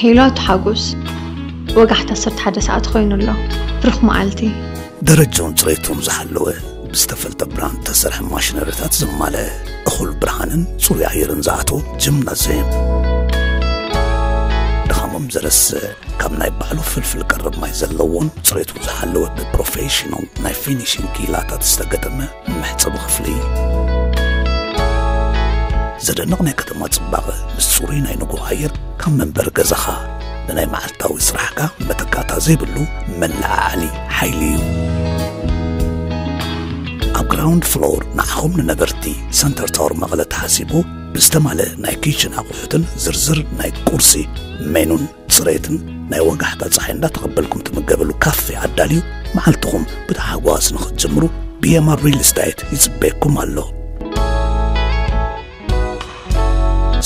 ሄሎ ኣቶ ሓጎስ፣ ወጋሕታ ዓሰርተ ሓደ ሰዓት ኮይኑ ኣሎ። ብሩኽ መዓልቲ። ደረጃኡን ጽሬቱን ዝሓለወ ብዝተፈልጠ ብራንድ ተሰርሐ ማሽነሪታት ዘማልአ እኹል ብርሃንን ጽሩይ ኣየርን ዝኣትዎ ጅምናዝየም። ድኻሞም ዘረስዕ ካብ ናይ ባዕሉ ፍልፍል ቀረብ ማይ ዘለዎን ጽሬቱ ዝሓለወ ብፕሮፌሽናል ናይ ፊኒሽንግ ክኢላታት ዝተገጠመ መሕጸቢ ክፍሊ። ዘደንቕ ናይ ከተማ ጽባቐ ምስ ጽሩይ ናይ ንግሆ ኣየር ካብ መንበሪ ገዛኻ ንናይ መዓልታዊ ስራሕካ መተካእታ ዘይብሉ መለዓዓሊ ሓይሊ እዩ። ኣብ ግራውንድ ፍሎር ንዓኹም ንነበርቲ ሰንተር ታወር መቐለ ተሓሲቡ ብዝተማልአ ናይ ኪችን ኣቑሑትን ዝርዝር ናይ ቁርሲ ሜኑን ጽሬትን ናይ ወጋሕታ ጸሓይ እንዳተቐበልኩም ትምገበሉ ካፌ ኣዳልዩ መዓልትኹም ብታሕጓስ ንኽትጅምሩ ቢኤምኣር ሪል ስቴት ይጽበየኩም ኣሎ።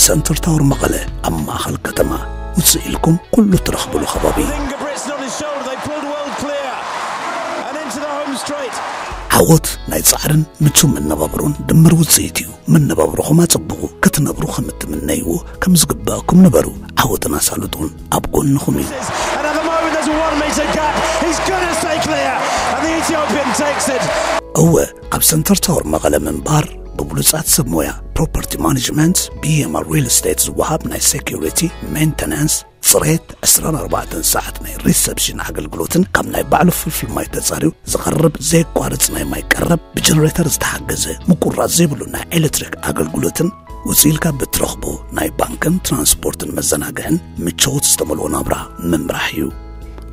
ሰንተር ታወር መቐለ ኣብ ማእኸል ከተማ ውፅእ ኢልኩም ኩሉ ትረኽብሉ ከባቢ። Finger Britson on his shoulder. They pulled well clear and into the home straight. ዓወት ናይ ጻዕርን ምቹው መነባብሮን ድምር ውፅኢት እዩ። መነባብሮኹም ኣጸብቑ፣ ክትነብሩ ከም እትምነይዎ ከም ዝግበኣኩም ንበሩ። ዓወትን ኣሳልጦን ኣብ ጎንኹም እዩ። And at the moment, there's a one metre gap. He's going to stay clear, and the Ethiopian takes it. እወ፣ ኣብ ሰንተር ታወር መቐለ ምንባር ብብሉጻት ሰብ ሞያ ፕሮፐርቲ ማኔጅመንት ቢኤምኣር ሪል ስቴት ዝወሃብ ናይ ሴኩሪቲ፣ ሜንተናንስ፣ ጽሬት፣ ዕስራን ኣርባዕተን ሰዓት ናይ ሪሰፕሽን ኣገልግሎትን ካብ ናይ ባዕሉ ፍልፍል ማይ ተጻርዩ ዝቐርብ ዘየቋርጽ ናይ ማይ ቀረብ ብጀነሬተር ዝተሓገዘ ምቁራጽ ዘይብሉ ናይ ኤሌክትሪክ ኣገልግሎትን ውጽእ ኢልካ ብትረኽቦ ናይ ባንክን ትራንስፖርትን መዘናግዕን ምቾት ዝተመልኦ ናብራ ምምራሕ እዩ።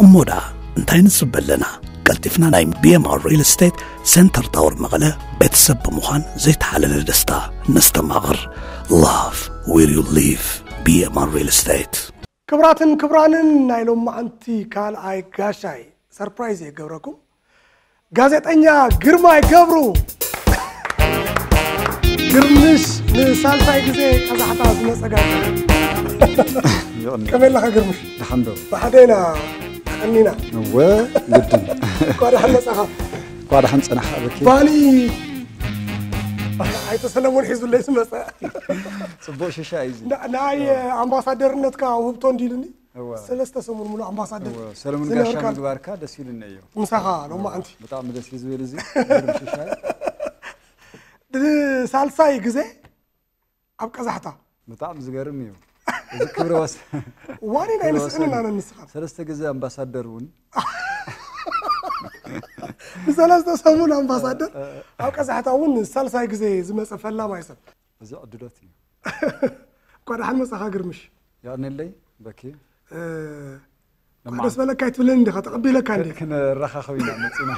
እሞ ደኣ እንታይ ንጽበ ኣለና? ቀልጢፍና ናይ ቢኤምኣር ሪል ስቴት ሰንተር ታወር መቐለ ቤተሰብ ብምዃን ዘይተሓለለ ደስታ ነስተማቕር። Love where you live። ቢኤምኣር ሪል ስቴት። ክብራትን ክብራንን ናይ ሎማዓንቲ ካልኣይ ጋሻይ ሰርፕራይዝ እየ ገብረኩም። ጋዜጠኛ ግርማይ ገብሩ ግርምሽ ንሳልሳይ ግዜ ቀዛሕታ ዝመጸ ጋዜጠኛ። ከመይ ኣለኻ ግርምሽ? ደሓን ዶ? ብሓደና ቀኒና። እወ ግድን። እንኳ ደሓን መጻኻ። እኳ ደሓን ጸናሕ ኣበኪ። ባኒ ኣይተ ሰለሞን ሒዙለይ ዝመጸ። ጽቡቕ ሽሻ እዩ እዚ። ና- ናይ ኣምባሳደርነትካ ውህብቶ እንዲልኒ እወ። ሰለስተ ሰሙን ሙሉ ኣምባሳደር እወ፣ ሰለሙን ዝነበርካ ጋሻ ምግባርካ ደስ ኢሉኒ እዩ። ምሳኻ ሎማዓንቲ ብጣዕሚ ደስ እዩ ዝብል እዚ ግርም ሽሻይ። ሳልሳይ ግዜ ኣብ ቀዛሕታ ብጣዕሚ ዝገርም እዩ። እዚ ክብረ ወስ ዋኒ ናይ ክብረ ንስእንን ወሰን ኣነ ንስኻ ሰለስተ ግዜ ኣምባሳደር እውን ንሰለስተ ሰሙን ኣምባሳደር ኣብ ቀዛሕታ እውን ሳልሳይ ግዜ ዝመፀ ፈላማይ ሰብ እዚ ዕድሎት እዩ። እኳ ደሓን መፃኻ ግርምሽ። የቐንለይ በኪ። እ፣ ደስ በለካ ኣይትብለኒ እንዲኻ ተቐቢለካ እንዲ ክንረኻኸብ ኢና መፂና።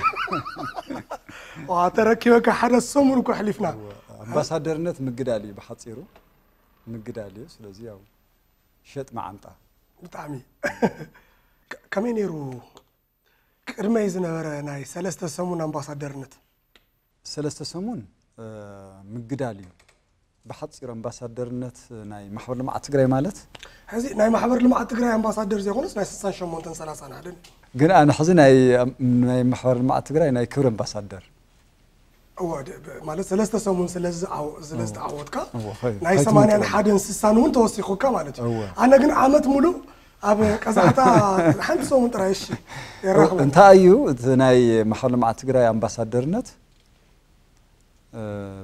ዋ ተረኪበካ ሓደ ሰሙን እኮ ኣሕሊፍና። ኣምባሳደርነት ምግዳል እዩ ብሓፂሩ ምግዳል እዩ። ስለዚ ያው ሸጥ መዓንጣ ብጣዕሚ ከ- ከመይ ነይሩ ቅድመይ ዝነበረ ናይ ሰለስተ ሰሙን ኣምባሳደርነት? ሰለስተ ሰሙን ምግዳል እዩ ብሓፂሩ ኣምባሳደርነት ናይ ማሕበር ልምዓት ትግራይ ማለት። ሕዚ ናይ ማሕበር ልምዓት ትግራይ ኣምባሳደር ዘይኮነስ ናይ ስሳን ሸሞንተን ሰላሳን ሓደ ግን ኣነ ሕዚ ናይ ናይ ማሕበር ልምዓት ትግራይ ናይ ክብሪ ኣምባሳደር እወ ደ- ብ- ማለት ሰለስተ ሰሙን ስለዚ ዝዓወ- ስለዝተዓወትካ እወ፣ ኸይ- ናይ ኸይትምልጥ ሰማንያን እወ። ሓደን ስሳን እውን ተወሲኹካ ማለት እዩ። እወ። ኣነ ግን ዓመት ሙሉ ኣብ ቀዛሕታ ሓንቲ ሰሙን ጥራይ እሺ የራኽበ እንታይ እዩ እቲ ናይ ማሕበር ልምዓት ትግራይ ኣምባሳደርነት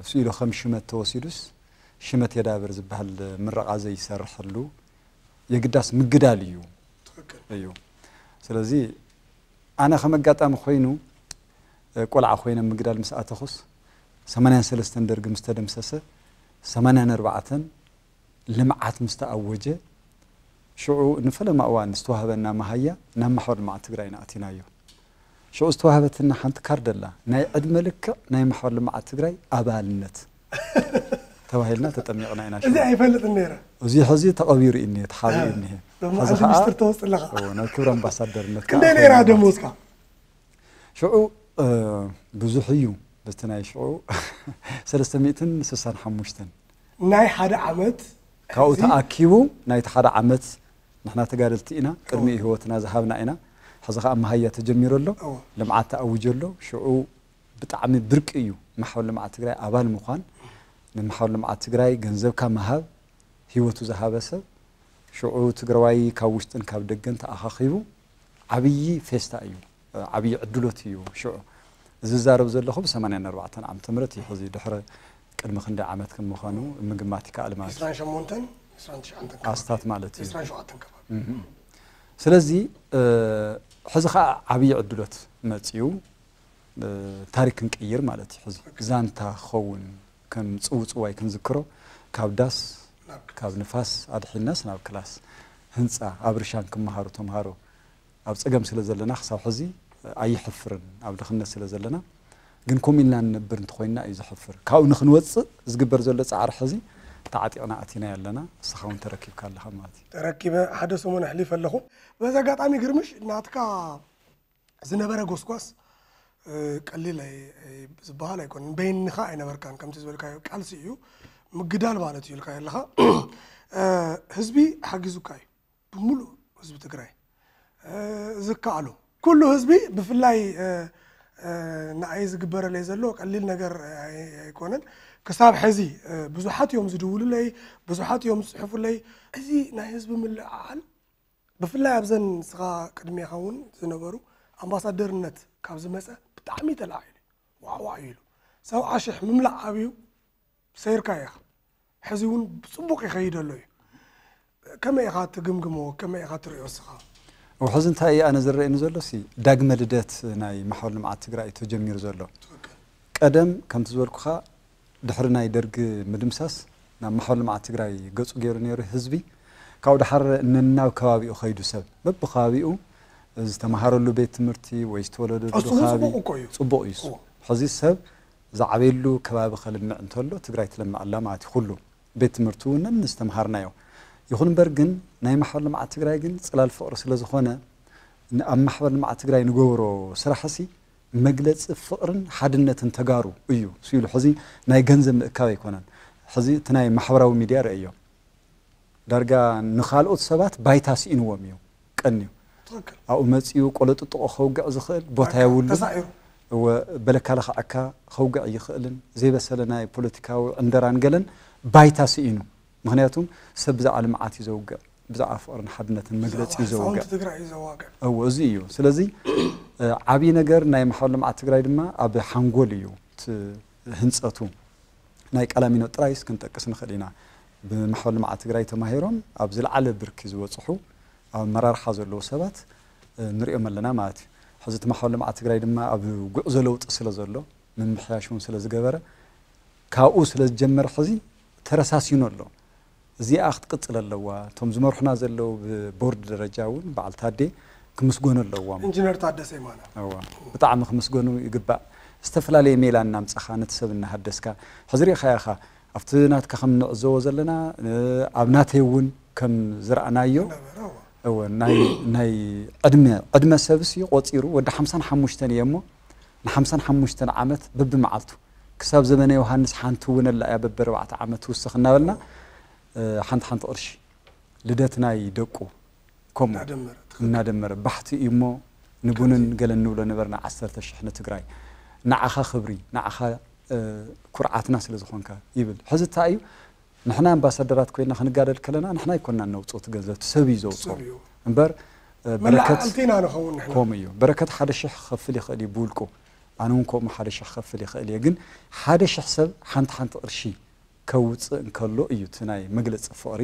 ስኢሉ ከም ሽመት ተወሲዱስ ሽመት የዳብር ዝበሃል ምረቓ ዘይሰርሐሉ የግዳስ ምግዳል እዩ እዩ። ስለዚ ኣነ ከም ኣጋጣሚ ኮይኑ ቆልዓ ኮይነ ምግዳል ምስ ኣተኹስ ሰማንያን ሰለስተን ደርጊ ምስ ተደምሰሰ ሰማንያን ኣርባዕተን ልምዓት ምስ ተኣወጀ ሽዑ ንፈለማ እዋን ዝተዋህበና መሃያ ናብ ማሕበር ልምዓት ትግራይ ኢና ኣቲናዮ። ሽዑ ዝተዋህበትና ሓንቲ ካርድ ኣላ ናይ ዕድመ ልክዕ ናይ ማሕበር ልምዓት ትግራይ ኣባልነት ተባሂልና ተጠሚቕና ኢና። እዚ ኣይፈልጥን ነይረ። እዚ ሕዚ ተቐቢሩ እዩ እኒሄ ተሓቢኡ እኒሄ። ሎማ ሕዚ ሓንቲ ከዓ ሚስጥር ተወፅለኻ። ኦ፣ ናይ ክብሪ ኣምባሳደርነት ከዓ ክንደይ ነይራ ኮይና ደሞዝካ? ሽዑ ብዙሕ እዩ በቲ ናይ ሽዑ ሰለስተ ሚእትን ስሳን ሓሙሽተን ናይ ሓደ ዓመት ካብኡ እዚ ተኣኪቡ ናይቲ ሓደ ዓመት ንሕና ተጋደልቲ ኢና ቅድሚ ህይወትና ዝሃብና ኢና። ሕዚ ከዓ መሃያ ተጀሚሩ ኣሎ። እወ። ልምዓት ተኣውጆ ኣሎ። ሽዑ ብጣዕሚ ብርቂ እዩ ማሕበር ልምዓት ትግራይ ኣባል ምዃን። ንማሕበር ልምዓት ትግራይ ገንዘብካ ምሃብ ህይወቱ ዝሃበ ሰብ ሽዑ ትግራዋይ ካብ ውሽጥን ካብ ደገን ተኣኻኺቡ ዓብዪ ፌስታ እዩ፣ ዓብዪ ዕድሎት እዩ። ሽዑ ዝዛረብ ዘለኹ ብ84 ዓመተ ምህረት እዩ። ሕዚ ድሕሪ ቅድሚ ክንደይ ዓመት ከም ምዃኑ ምግማት ይከኣል ማለት እዩ። ዒስራን ሸሞንተን ዒስራን ትሽዓተን ከባቢ ኣስታት ማለት እዩ። ዒስራን ሸውዓተን ከባቢ ስለዚ ሕዚ ከዓ ዓብዪ ዕድሎት መፅዩ፣ ታሪክ ክንቅይር ማለት እዩ። ሕዚ ዛንታ ክኸውን ከም ፅውፅዋይ ክንዝክሮ ካብ ዳስ ካብ ንፋስ ኣድሒናስ ናብ ክላስ ህንፃ ኣብ ርሻን ክመሃሩ ተምሃሮ ኣብ ፀገም ስለ ዘለና ክሳብ ሕዚ ኣይሕፍርን ኣብ ድኽነት ስለ ዘለና ግን ኮም ኢልና ንነብር እንተኮይንና እዩ ዘሕፍር። ካብኡ ንክንወፅእ ዝግበር ዘሎ ፃዕሪ ሕዚ ተዓጢቕና ኣቲና ኣለና። ንስኻ እውን ተረኪብካ ኣለኻ ማለት እዩ። ተረኪበ ሓደ ሰሙን ኣሕሊፈ ኣለኹ። በዚ ኣጋጣሚ ግርምሽ ናትካ ዝነበረ ጎስጓስ ቀሊል ዝበሃል ኣይኮነን። በይንኻ ኣይነበርካን ከምቲ ዝበልካዮ ቃልሲ እዩ ምግዳል ማለት እዩ ኢልካ ኣለኻ። ህዝቢ ሓጊዙካ እዩ ብምሉእ ህዝቢ ትግራይ ዝከኣሎ ኩሉ ህዝቢ ብፍላይ ንኣይ ዝግበረለይ ዘሎ ቀሊል ነገር ኣይኮነን። ክሳብ ሕዚ ብዙሓት እዮም ዝድውሉለይ፣ ብዙሓት እዮም ዝፅሕፉለይ። እዚ ናይ ህዝቢ ምልዕዓል ብፍላይ ኣብዘን ንስኻ ቅድሜኻ እውን ዝነበሩ ኣምባሳደርነት ካብ ዝመፀ ብጣዕሚ ተላዒሉ ዋዕዋዕ ኢሉ ሰብዓ ሽሕ ምምላእ ኣብዩ ሰይርካ ኢኻ። ሕዚ እውን ብፅቡቕ ይኸይድ ኣሎ እዩ። ከመይ ኢኻ ትግምግሞ? ከመይ ኢኻ ትሪኦ እስኻ? ሕዚ እንታይ እዩ ኣነ ዝረአየኒ ዘሎ ሲ ዳግመ ልደት ናይ ማሕበር ልምዓት ትግራይ ተጀሚሩ ዘሎ። ቀደም ከምቲ ዝበልኩኻ ድሕሪ ናይ ደርጊ ምድምሳስ ናብ ማሕበር ልምዓት ትግራይ ገፁ ገይሩ ነይሩ ህዝቢ። ካብኡ ደሓር ነናብ ከባቢኡ ከይዱ ሰብ በብከባቢኡ ዝተምሃረሉ ቤት ትምህርቲ ወይ ዝተወለደሉ እሱ እውን ከባቢ ፅቡቕ እኮ እዩ። ፅቡቕ እዩ። ሕዚ ሰብ ዝዓበየሉ ከባቢ ከልምዕ እንተሎ ትግራይ ትለምዕ ኣላ ማለት እዩ። ኩሉ ቤት ትምህርቲ እውን ነንዝተምሃርናዮ። ይኹን እምበር ግን ናይ ማሕበር ልምዓት ትግራይ ግን ፅላል ፍቕሪ ስለ ዝኾነ ኣብ ማሕበር ልምዓት ትግራይ ንገብሮ ስራሕሲ መግለፂ ፍቕርን ሓድነትን ተጋሩ እዩ። ስኢሉ ሕዚ ናይ ገንዘብ ምእካብ ኣይኮነን። ሕዚ እቲ ናይ ማሕበራዊ ሚድያ ረእዮ ዳርጋ ንኻልኦት ሰባት ባይታ ስኢንዎም እዩ ቀንዩ። ኣብኡ መፂኡ ቆለጥጥቆ ከውግዕ ዝኽእል ቦታ የብሉ። በለካ ለኽዐካ ከውግዕ ይኽእልን ዘይበሰለ ናይ ፖለቲካዊ ዕንደራን ገለን ባይታ ስኢኑ። ምክንያቱም ሰብ ብዛዕባ ልምዓት እዩ ዘውግዕ፣ ብዛዕባ ፍቕርን ሓድነትን መግለፂ እዩ ዘውግዕ። ትግራይ እዩ ዘዋግዕ። እዎ እዚ እዩ። ስለዚ ዓብዪ ነገር ናይ ማሕበር ልምዓት ትግራይ ድማ ኣብ ሓንጎል እዩ ህንፀቱ። ናይ ቀላሚኖ ጥራይስ ክንጠቅስ ንኽእል ኢና። ብማሕበር ልምዓት ትግራይ ተማሂሮም ኣብ ዝለዓለ ብርኪ ዝበፅሑ ኣብ ኣመራርሓ ዘለዉ ሰባት ንሪኦም ኣለና ማለት እዩ። ሕዚ እቲ ማሕበር ልምዓት ትግራይ ድማ ኣብ ጉዕዞ ለውጢ ስለ ዘሎ ምምሕያሽ እውን ስለ ዝገበረ ካብኡ ስለ ዝጀመረ ሕዚ ተረሳሲኑ ኣሎ። እዚኣ ክትቅፅል ኣለዋ። እቶም ዝመርሑና ዘለዉ ብቦርድ ደረጃ እውን በዓል ታዴ ክምስጎኑ ኣለዎም። ኢንጂነር ታደሰ የማነ። ብጣዕሚ ክምስገኑ ይግባእ። ዝተፈላለየ ሜላ እናምፀኻ ነቲ ሰብ እናሃደስካ ሕዚ ሪኢኻ ኢኻ ኣብቲ ናትካ ከም ንዕዘቦ ዘለና ኣብ ናተይ እውን ከም ዝረኣናዮ ናይ ዕድመ ዕድመ ሰብሲ ቆፂሩ ወዲ ሓምሳን ሓሙሽተን እየ እሞ ንሓምሳን ሓሙሽተን ዓመት በብመዓልቱ ክሳብ ዘመነ ዮሃንስ ሓንቲ እውን ኣላ እያ በብኣርባዕተ ዓመት ትውስኽ እናበልና ሓንቲ ሓንቲ ቅርሺ ልደት ናይ ደቁ ከምኡ እናደመረ ባሕቲ እዩ እሞ ንቡንን ገለን ንብሎ ነበርና ዓሰርተ ሽሕ ንትግራይ ንዓኻ ክብሪ ንዓኻ ኩርዓትና ስለ ዝኾንካ ይብል። ሕዚ እንታይ እዩ ንሕና ኣምባሳደራት ኮይና ክንጋደል ከለና ንሕና ኣይኮንና ነውፅኦ እቲ ገንዘብ እቲ ሰብ እዩ ዘውፅኦ እምበር በረከት ከምኡ እዩ። በረከት ሓደ ሽሕ ክኸፍል ይኽእል እዩ ብውልቁ ኣነ እውን ከምኡ ሓደ ሽሕ ክኸፍል ይኽእል እየ ግን ሓደ ሽሕ ሰብ ሓንቲ ሓንቲ ቅርሺ ከውፅእ እንከሎ እዩ እቲ ናይ መግለፂ ፍቕሪ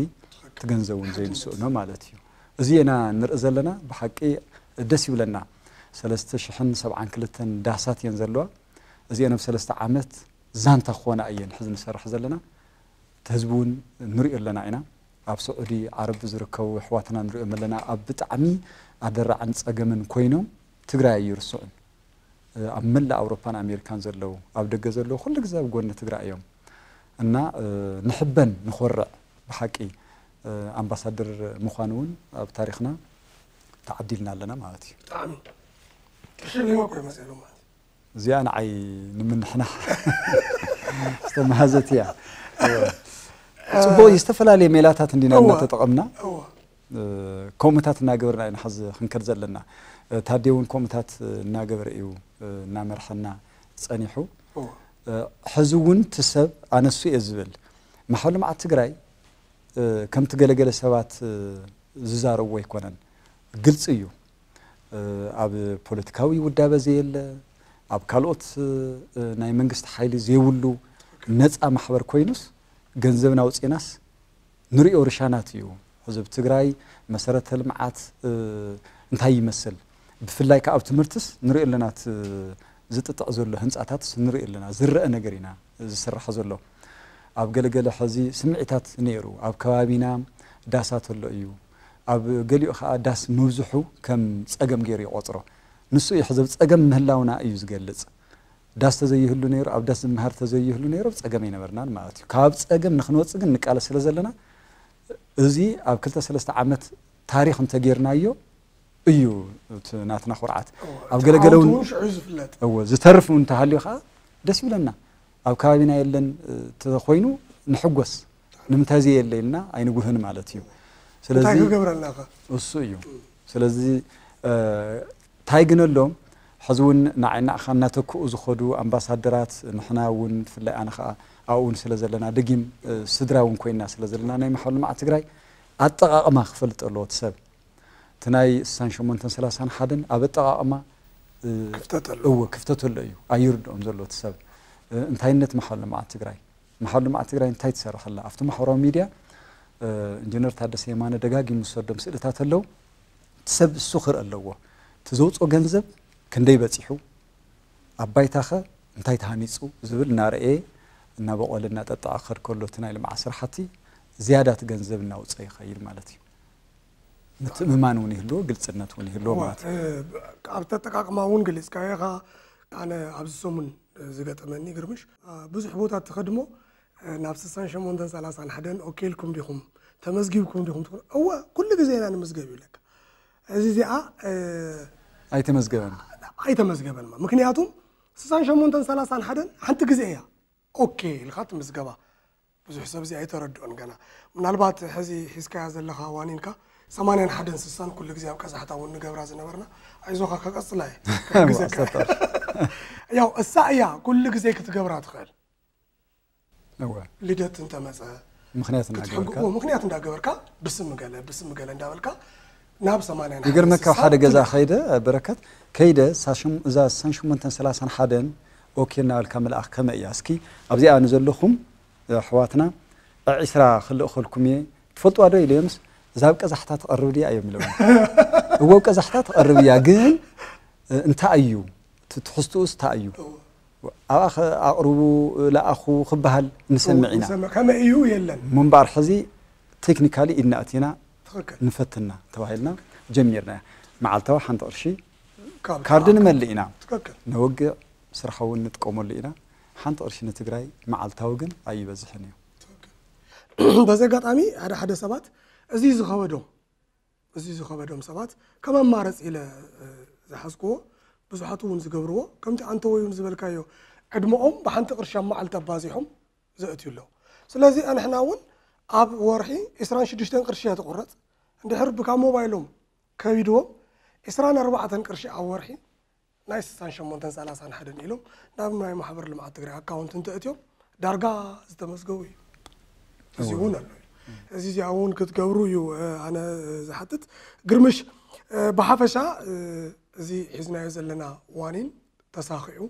እቲ ገንዘብ እውን ዘይንስእኖ ማለት እዩ። እዚ ኢና ንርኢ ዘለና ብሓቂ ደስ ይብለና። ሰለስተ ሽሕን ሰብዓን ክልተን ዳሳት እየን ዘለዋ። እዚአን ኣብ ሰለስተ ዓመት ዛንታ ክኾና እየን ሕዚ ንሰርሕ ዘለና። እቲ ህዝቢ እውን ንሪኦ ኣለና ኢና። ኣብ ስዑዲ ዓረብ ዝርከቡ ኣሕዋትና ንሪኦም ኣለና። ኣብ ብጣዕሚ ኣደራዕን ፀገምን ኮይኖም ትግራይ ኣይርስዑን። ኣብ መላእ ኣውሮፓን ኣሜሪካን ዘለዉ ኣብ ደገ ዘለዉ ኩሉ ግዜ ኣብ ጎኒ ትግራይ እዮም እና ንሕበን ንኾርዕ ብሓቂ ኣምባሳደር ምዃን እውን ኣብ ታሪኽና ተዓዲልና ኣለና ማለት እዩ። ብጣዕሚ ቅርሺ ሌባ እኮ ይመፅእ ማለት እዚኣ ንዓይ ንምንሕናሕ ዝተመሃዘት እያ። ፅቡቅ ዝተፈላለዩ ሜላታት እንዲና እናተጠቐምና ከምኡታት እናገበርና ኢና ሐዚ ክንከድ ዘለና። ታዴ እውን ከምኡታት እናገበረ እዩ እናመርሐና ፀኒሑ። ሕዚ እውን እቲ ሰብ ኣነሱ እየ ዝብል ማሕበር ልምዓት ትግራይ ከምቲ ገለገለ ሰባት ዝዛረብዎ ኣይኮነን፣ ግልፂ እዩ። ኣብ ፖለቲካዊ ውዳበ ዘየለ፣ ኣብ ካልኦት ናይ መንግስቲ ሓይሊ ዘይብሉ ነፃ ማሕበር ኮይኑስ፣ ገንዘብና ኣውፂእናስ ንሪኦ ርሻናት እዩ። ሕዚ ኣብ ትግራይ መሰረተ ልምዓት እንታይ ይመስል፣ ብፍላይ ከዓ ኣብ ትምህርትስ ንሪኦ ኣለና። ዝጥጥዕ ዘሎ ህንፃታትስ ንሪኦ ኣለና፣ ዝረአ ነገር ኢና ዝስራሕ ዘሎ። ኣብ ገለገለ ሕዚ ስምዒታት ነይሩ፣ ኣብ ከባቢና ዳሳት ኣሎ እዩ። ኣብ ገሊኡ ከዓ ዳስ ምብዝሑ ከም ፀገም ገይሩ ይቆፅሮ። ንሱ እዩ ሕዚ ኣብ ፀገም ምህላውና እዩ ዝገልፅ። ዳስ ተዘይህሉ ነይሩ፣ ኣብ ዳስ ዝመሃር ተዘይህሉ ነይሩ፣ ኣብ ፀገም ኣይነበርናን ማለት እዩ። ካብ ፀገም ንክንወፅእ ግን ንቃለስ ስለ ዘለና፣ እዚ ኣብ ክልተ ሰለስተ ዓመት ታሪኽ እንተጌርናዮ እዩ እቲ ናትና ኩርዓት። ኣብ ገለገለ እውን ሽዑ ዝፍለጥ። እዎ፣ ዝተርፍ እውን እንተሃልዩ ከዓ ደስ ይብለና። ኣብ ከባቢና የለን ተኮይኑ ንሕጎስ። ንምንታይ ዘየለ ኢልና ኣይንጉህን ማለት እዩ። ስለዚ እንታይ ክገብረልናኸ? እሱ እዩ። ስለዚ እንታይ ግን ኣሎ፣ ሕዚ እውን ንዓይ ንዓኻ እናተክኡ ዝኸዱ ኣምባሳደራት፣ ንሕና እውን ብፍላይ ኣነ ከዓ ኣብኡ እውን ስለ ዘለና፣ ደጊም ስድራ እውን ኮይና ስለ ዘለና፣ ናይ ማሕበር ልምዓት ትግራይ ኣጠቓቕማ ክፈልጥ ኣለዎ እቲ ሰብ። እቲ ናይ ስሳን ሸሞንተን ሰላሳን ሓደን ኣብ ኣጠቓቕማ ክፍተት ኣሎ። እዎ፣ ክፍተት ኣሎ እዩ ኣይርድኦም ዘሎ እቲ ሰብ። እንታይነት ማሕበር ልምዓት ትግራይ፣ ማሕበር ልምዓት ትግራይ እንታይ ትሰርሕ ኣላ? ኣብቲ ማሕበራዊ ሚድያ ኢንጂነር ታደሰ የማነ ደጋጊሙ ዝሰዶም ስእልታት ኣለዉ። እቲ ሰብ እሱ ክርኢ ኣለዎ። እቲ ዘውፅኦ ገንዘብ ክንደይ በፂሑ፣ ኣብ ባይታኸ እንታይ ተሃኒፁ ዝብል እናረእየ፣ እናበቆለ እናጠጠዐ ክኸድ ከሎ፣ እቲ ናይ ልምዓት ስራሕቲ ዝያዳ እቲ ገንዘብ እናውፀ ይኸይድ ማለት እዩ። ምትእምማን እውን ይህልዎ፣ ግልፅነት እውን ይህልዎ ማለት እዩ። ኣብ ተጠቃቅማ እውን ገሊፅካዮ ኢኻ። ኣነ ኣብዚ ሰሙን ዝገጠመኒ ግርምሽ፣ ብዙሕ ቦታ ትኸድሞ ናብ ስሳን ሸሞንተን ሰላሳን ሓደን ኦኬ ኢልኩም ዲኹም፣ ተመዝጊብኩም ዲኹም ትብል። እወ፣ ኩሉ ግዜ ኢና ንምዝገብ ይብለካ። እዚ እዚኣ ኣይተመዝገበን። ኣይተመዝገበን። ምክንያቱም ስሳን ሸሞንተን ሰላሳን ሓደን ሓንቲ ግዜ እያ ኦኬ ኢልካ ትምዝገባ። ብዙሕ ሰብ እዚ ኣይተረድኦን ገና። ምናልባት ሕዚ ሒዝካያ ዘለኻ ዋኒንካ ሰማንያን ሓደን ስሳን ኩሉ ግዜ ኣብ ቀዛሕታ እውን ንገብራ ዝነበርና፣ ኣይዞኻ ከቀጽላ እየ። ክሕግዘካ። ያው እሳ እያ ኩሉ ግዜ ክትገብራ ትኽእል። እወ። ልደት እንተመጸ ምኽንያት እናገበርካ። ክትሕግዎ ምኽንያት እንዳገበርካ ብስም ገለ ብስም ገለ እንዳበልካ ናብ ሰማንያን ሓደን ይገርመካ፣ ስሳን ሓደ ገዛ ትበጽሕ። ከይደ በረከት፣ ከይደ ሳሽም- እዛ ሳን ሸሞንተን ሰላሳን ሓደን ኦኬ እናበልካ ምልኣኽ ከመይ እያ? እስኪ ኣብዚኣ ንዘለኹም ኣሕዋትና ዕስራ ክልእኸልኩም እየ፣ ትፈልጥዋ ዶ ኢለዮምስ፣ እዛ ኣብ ቀዛሕታ ትቐርብ ድያ እዮም ኢሎም። እወ፣ ኣብ ቀዛሕታ ትቐርብ እያ፣ ግን እንታይ እዩ እቲ ትሕዝትኡስ እንታይ እዩ? ኣብኣ ኣቕርቡ፣ ለኣኹ ክበሃል ንሰምዕ ኢና። ንሰምዕ። ከመይ እዩ የለን። ምንባር ሕዚ ቴክኒካሊ ኢድና ኣቲና ትኽክል። ንፈትና ተባሂልና ጀሚርና። መዓልታዊ ሓንቲ ቅርሺ ካብ ካርድ ንመልእ ኢና። ትኽክል። ነወግዕ፣ ስራሕ እውን ንጥቀመሉ ኢና። ሓንቲ ቅርሺ ንትግራይ መዓልታዊ ግን ኣይበዝሕን እዩ። በዚ ኣጋጣሚ ሓደ ሓደ ሰባት እዚ ዝኸበዶም እዚ ዝኸበዶም ሰባት ከም ኣማረፂ ኢለ ዝሓዝክዎ፣ ብዙሓት እውን ዝገብርዎ፣ ከምቲ ኣንተ ወይን ዝበልካዮ ዕድመኦም ብሓንቲ ቅርሺ ኣብ መዓልቲ ኣባዚሖም ዘእትዩ ኣለዉ። ስለዚ ኣንሕና እውን ኣብ ወርሒ ዕስራን ሽዱሽተን ቅርሺ እያ ትቑረፅ። እንድሕር ብካብ ሞባይሎም ከቢድዎም ዕስራን ኣርባዕተን ቅርሺ ኣብ ወርሒ ናይ ስሳን ሸሞንተን ሰላሳን ሓደን ኢሎም ናብ ናይ ማሕበር ልምዓት ትግራይ ኣካውንት እንተእትዮም ዳርጋ ዝተመዝገቡ እዩ። እዚ እውን ኣሎ እዩ። እዚ እዚኣ እውን ክትገብሩ እዩ ኣነ ዝሓትት። ግርምሽ፣ ብሓፈሻ እዚ ሒዝናዮ ዘለና ዋኒን ተሳኺዑ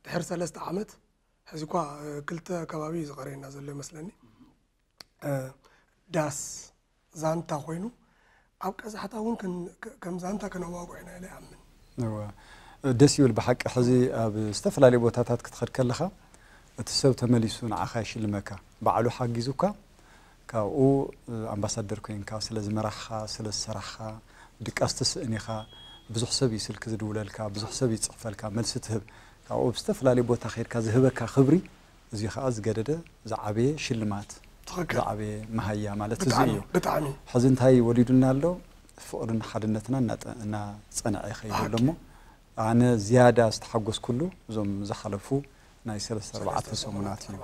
ድሕሪ ሰለስተ ዓመት፣ ሕዚ እኳ ክልተ ከባቢ እዩ ዝቐረየና ዘሎ ይመስለኒ። ዳስ ዛንታ ኮይኑ ኣብ ቀዛሕታ እውን ከም ዛንታ ከነዋግዖ ኢና ኢለ ይኣምን። ደስ ይብል ብሓቂ። ሕዚ ኣብ ዝተፈላለዩ ቦታታት ክትኸድ ከለኻ እቲ ሰብ ተመሊሱ ንዓኻ ይሽልመካ። ባዕሉ ሓጊዙካ፣ ካብኡ ኣምባሳደር ኮይንካ ስለ ዝመራሕኻ፣ ስለ ዝሰራሕኻ፣ ድቃስ ትስእን ኢኻ። ብዙሕ ሰብ እዩ ስልኪ ዝድውለልካ፣ ብዙሕ ሰብ ይፅሕፈልካ፣ መልሲ ትህብ። ካብኡ ኣብ ዝተፈላለዩ ቦታ ከይድካ ዝህበካ ክብሪ፣ እዚ ከዓ ዝገደደ ዝዓበየ ሽልማት፣ ዝዓበየ መሃያ ማለት እዚ እዩ። ብጣዕሚ ሕዚ እንታይ ወሊዱና ኣሎ? ፍቕርን ሓድነትና እናጸንዐ ይኸይድ ኣሎ እሞ ኣነ ዝያዳ ዝተሓጎስኩሉ እዞም ዝሓለፉ ናይ ሰለስተ ኣርባዕተ ሰሙናት እዩ።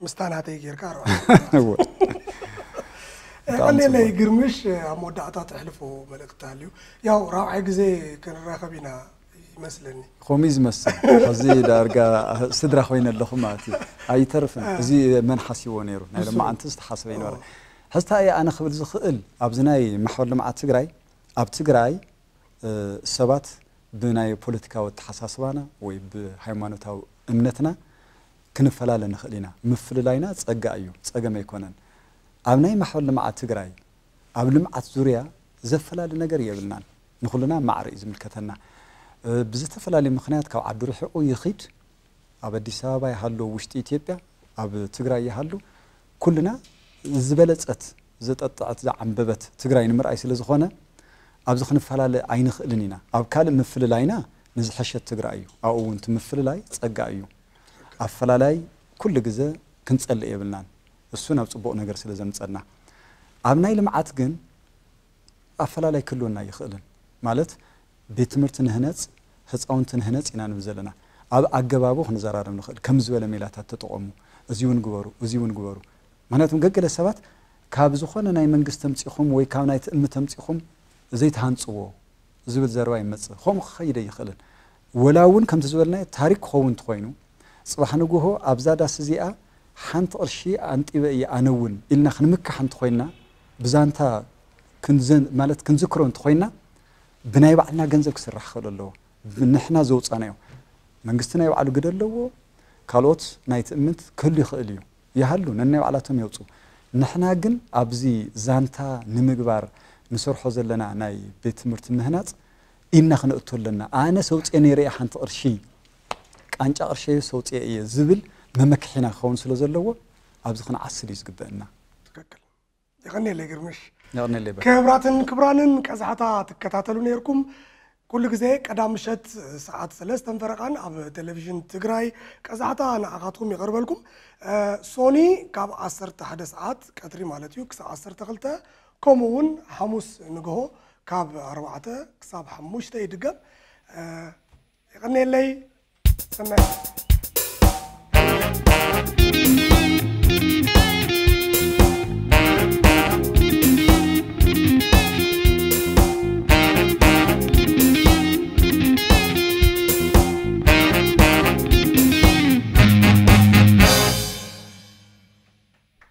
ምስታ ናተይ ጌርካ ቀሌለይ ግርምሽ ኣብ መወዳእታ ተሕልፎ መልእክቲ ኣልዩ። ያው ራብዓይ ግዜ ክንራኸብ ኢና ይመስለኒ። ከምኡ እዩ ዝመስል። ሕዚ ዳርጋ ስድራ ኮይነ ኣለኹ ማለት እዩ። ኣይተርፍን። እዚ መን ሓሲቦ ነይሩ? ናይ ሎማዓንቲ ዝተሓሰበ ይነበረ። ሕዝታ እየ ኣነ ክብል ዝኽእል ኣብዚ ናይ ማሕበር ልምዓት ትግራይ ኣብ ትግራይ ሰባት ብናይ ፖለቲካዊ ኣተሓሳስባና ወይ ብሃይማኖታዊ እምነትና ክንፈላለ ንኽእል ኢና። ምፍልላይና ጸጋ እዩ፣ ጸገም ኣይኮነን። ኣብ ናይ ማሕበር ልምዓት ትግራይ ኣብ ልምዓት ዙርያ ዘፈላሊ ነገር የብልናን። ንኹልና ማዕረ እዩ ዝምልከተና። ብዝተፈላለየ ምኽንያት ካብ ዓዱ ርሒቑ ይኺድ፣ ኣብ ኣዲስ ኣበባ ይሃሉ፣ ውሽጢ ኢትዮጵያ ኣብ ትግራይ ይሃሉ፣ ኩልና ዝበለጸት፣ ዘጠጥዐት፣ ዝዓንበበት ትግራይ ንምርኣይ ስለ ዝኾነ ኣብዚ ክንፈላለ ኣይንኽእልን ኢና። ኣብ ካልእ ምፍልላይና ንዝሐሸት ትግራይ እዩ። ኣብኡ እውን እቲ ምፍልላይ ጸጋ እዩ። ኣፈላላይ ኩሉ ግዘ ክንጸልእ የብልናን። እሱ ናብ ጽቡቕ ነገር ስለ ዘምጸና። ኣብ ናይ ልምዓት ግን ኣፈላላይ ክህልወና ይኽእልን ማለት ቤት ትምህርቲ ንህነጽ ህፃውንቲ ንህነጽ ኢና ንብል ዘለና። ኣብ ኣገባቡ ክንዘራረብ ንኽእል ከም ዝበለ ሜላታት ተጠቐሙ፣ እዚ እውን ግበሩ፣ እዚ እውን ግበሩ። ምክንያቱም ገገለ ሰባት ካብ ዝኾነ ናይ መንግስቲ ተምፂኹም ወይ ካብ ናይ ትእምት ተምፂኹም ዘይትሃንፅዎ ዝብል ዘረባ ይመፅእ። ከምኡ ክኸይደ ይኽእልን ወላ እውን ከምቲ ዝበልናዮ ታሪክ ክኸውን እንተኾይኑ ፅባሕ ንግሆ ኣብዛ ዳስ እዚኣ ሓንቲ ቅርሺ ኣንጢበ እየ ኣነ እውን ኢልና ክንምካሕ እንተኾይንና ብዛንታ ክንዘን ማለት ክንዝክሮ እንተኾይንና ብናይ ባዕልና ገንዘብ ክስራሕ ክኽእል ኣለዎ። ንሕና ዘውፃናዮ መንግስቲ ናይ ባዕሉ ግደ ኣለዎ። ካልኦት ናይ ትእምት ክህሉ ይኽእል እዩ ይሃሉ ነናይ ባዕላቶም የውፁ። ንሕና ግን ኣብዚ ዛንታ ንምግባር ንሰርሖ ዘለና ናይ ቤት ትምህርቲ ምህናፅ ኢድና ክነእቱ ኣለና። ኣነ ሰውፅየ ነይረ እየ ሓንቲ ቅርሺ ቃንጫ ቅርሸ ሰውፅየ እየ ዝብል መመክሒና ክኸውን ስለ ዘለዎ ኣብዚ ክንዓስል እዩ ዝግበእና። ትክክል። የቐንየለይ ግርምሽ። የቐንየለይ በ- ክብራትን ክብራንን ቀዛሕታ ትከታተሉ ነይርኩም። ኩሉ ግዜ ቀዳም ምሸት ሰዓት ሰለስተን ፈረቓን ኣብ ቴሌቪዥን ትግራይ ቀዛሕታ ንዓኻትኩም ይቐርበልኩም። ሶኒ ካብ ዓሰርተ ሓደ ሰዓት ቀትሪ ማለት እዩ ክሳብ ዓሰርተ ክልተ፣ ከምኡ እውን ሓሙስ ንግሆ ካብ ኣርባዕተ ክሳብ ሓሙሽተ ይድገም። የቐንየለይ። ሰናይ